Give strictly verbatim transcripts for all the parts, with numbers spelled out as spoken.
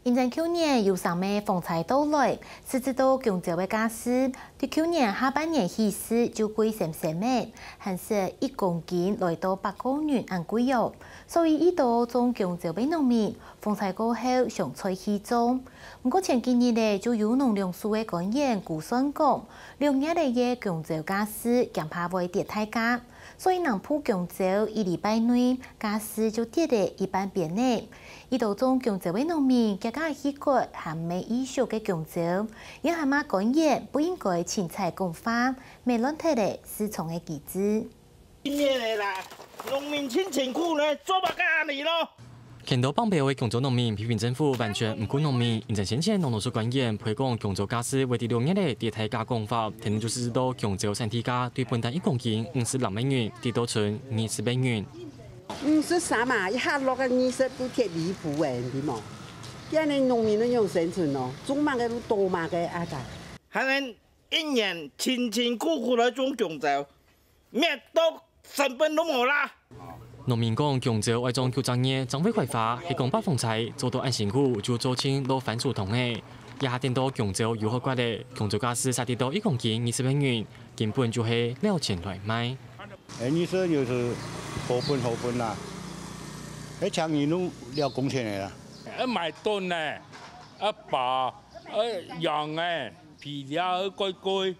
因為舊年有三个風災到來，使得到弓蕉个價數，對舊年下半年起勢就貴閃閃个，還係一公斤來到八個銀恁貴哦。所以，已多種弓蕉个農民，風災過後想再去種。毋過前幾日咧，就有農糧署个官員估算講，六月个弓蕉價數驚怕會跌忒價，所以南部弓蕉一禮拜內價數就跌了一半邊呢。 已多種弓蕉个農民，佢家去割還吂異熟个弓蕉，也喊罵官員不應該凊彩講話，乜亂忒了市場个機制。今年个啦，農民盡辛苦呢，做麼个恁呢咯？看到放炮个弓蕉農民批評政府完全毋顧農民，因為先前農糧署官員批講弓蕉價數會在六月个跌忒價講法，天天就係到弓蕉產地價對本旦一公斤五十六美元跌到剩二十美元。 五十三嘛，一下落个二十都忒離譜誒，你知無？今日農民都用生存哦，種麼个都多麼个啊！還能一年辛辛苦苦來種弓蕉，滅到成本都無啦。農民講，弓蕉愛種九隻月正會開花，係講八風災做到恁辛苦，就做盡落番薯桶誒。這下等到弓蕉有好割咧，弓蕉價數嗄跌到一公斤二十美元，根本就係了錢來賣。 哎，你說就是好分好分啦，哎，強人弄了工錢的啦。愛買燉呢，愛包，愛養哎，肥料愛貴貴。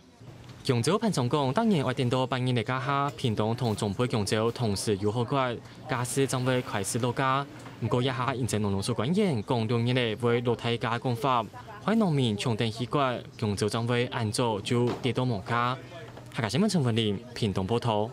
弓蕉盤商講，逐年愛等到八月个該下，屏東同中部弓蕉同時有好割，價數正會開始落價。毋過這下因為農糧署官員講六月个會落忒價講法，害農民搶等去割，弓蕉正會恁早就跌到無價。客家新聞陳文林，屏東報導。